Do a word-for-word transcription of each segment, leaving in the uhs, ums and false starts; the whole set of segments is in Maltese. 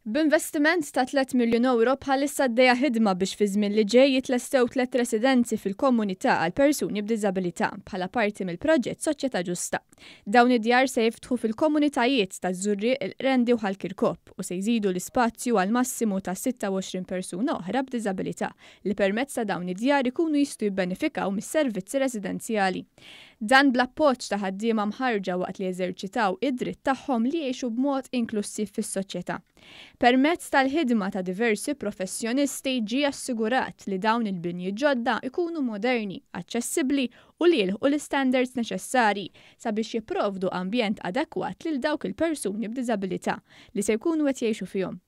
B'investiment ta' tliet miljun euro, bħalissa għaddejja ħidma biex fi żmien li ġej jitlestew tliet residenzi fil-komunità għal persuni b'diżabilità bħala parti mill-proġett Soċjetà Ġusta. Dawn id-djar se jiftħu fil-komunitajiet ta' Żurrieq, il-Qrendi u Ħal Kirkop u se jżidu l-ispazju għal massimu ta' sitta u għoxrin persuna oħra b'diżabilità li permezz ta' dawn id-djar ikunu jistgħu jibbenefikaw mis-servizzi residenzjali. Dan bl-appoġġ ta' ħaddiema mħarrġa waqt li jeżerċitaw id-dritt tagħhom li jgħixu b'mod inklusiv fis-soċjetà. Permezz tal-ħidma ta' diversi professjonisti ġie assigurat li dawn il-binji ġodda ikunu moderni, aċċessibbli u li jilħqu l-standards neċessari sabiex jipprovdu ambjent adekwat lil dawk il-persuni b'diżabilità li se jkunu qed jgħixu fihom.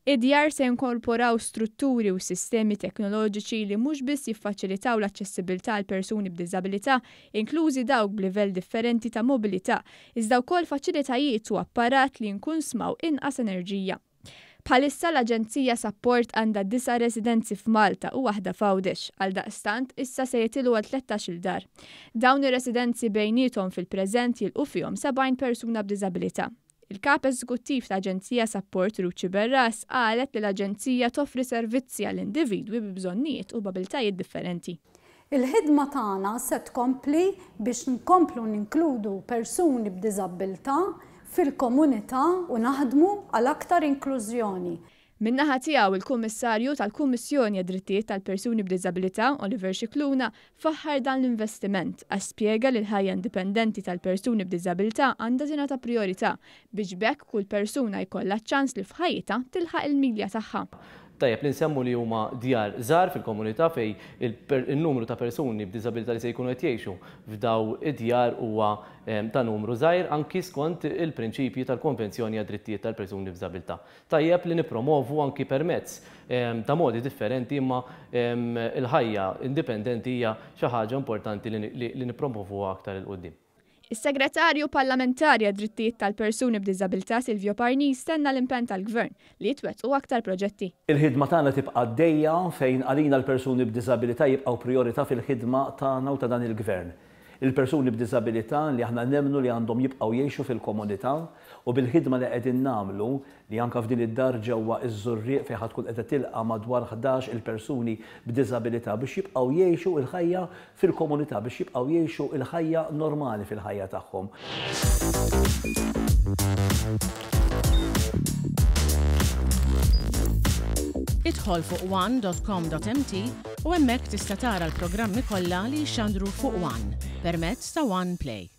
Id-djar se jinkorporaw strutturi u sistemi teknoloġiċi li mhux biss jiffaċilitaw l-aċċessibilità għal persuni b'diżabilità, inklużi dawk b'livell differenti ta' mobilità, iżda wkoll faċilitajiet u apparat li jinkunsmaw inqas enerġija. Bħalissa l-Aġenzija Sapport għandha disa' residenzi f'Malta u waħda f'Għawdex, għal daqstant issa se jitilgħu għal tlettax-il dar. Dawn ir-residenzi bejniethom fil-preżent jilqgħu fihom sebgħin persuna b'diżabilità. Il-kap eżekuttiv ta' Aġenzija Sapport, Ruth Sciberras, qalet li l-Aġenzija toffri servizzi għall individwi bi bżonnijiet u b'abiltajiet differenti. Il-ħidma tagħna se tkompli biex nkomplu ninkludu persuni b'diżabilità fil-komunità u naħdmu għal aktar inklużjoni. Min-naħa tiegħu, il-Kummissarju tal-Kummissjoni għad-Drittijiet tal-Persuni b'Diżabilità, Oliver Scicluna, faħħar dan l-investiment għax spjega li l-ħajja indipendenti tal-persuni b'diżabilità għandha tingħata priorità biex b'hekk kull persuna jkollha ċans li f'ħajjitha tilħaq il-milja tagħha. Tajjeb li nsemmu li huma djar żgħar fil-komunità fejn il-numru ta' persuni b'diżabilità li se jkunu qed jgħixu f'daw id-djar huwa ta' numru żgħir, anki skont il-prinċipji tal-Konvenzjoni għad-Drittijiet tal-Persuni b'Diżabilità. Tajjeb li nipromovu anki permezz ta' modi differenti, imma il-ħajja indipendenti hija xi ħaġa importanti li nippromovuha aktar 'il quddiem. Is-Segretarju Parlamentari għad-Drittijiet tal-Persuni b'Diżabilità, Silvio Parnis, tenna l-impenn tal-Gvern li jitwettqu aktar proġetti. Il-ħidma tagħna tibqa' għaddejja fejn għalina l-persuni b'diżabilità jibqgħu priorità fil-ħidma tagħna u ta' dan il-Gvern. Il-persuni b'diżabilità li aħna nemmnu li għandhom jibqgħu jgħixu fil-komunità u bil-ħidma li qegħdin nagħmlu li anke f'din id-dar ġewwa iż-Żurrieq fejn ħa tkun qiegħda tilqa' madwar ħdax il-persuni b'diżabilità biex jibqgħu jgħixu il-ħajja fil-komunità, biex jibqgħu jgħixu il-ħajja normali fil-ħajja tagħhom. Idħol fuq one dot com dot M T u hemmhekk tista' tara l-programmi kollha li jxandru fuq One permezz ta' One Play.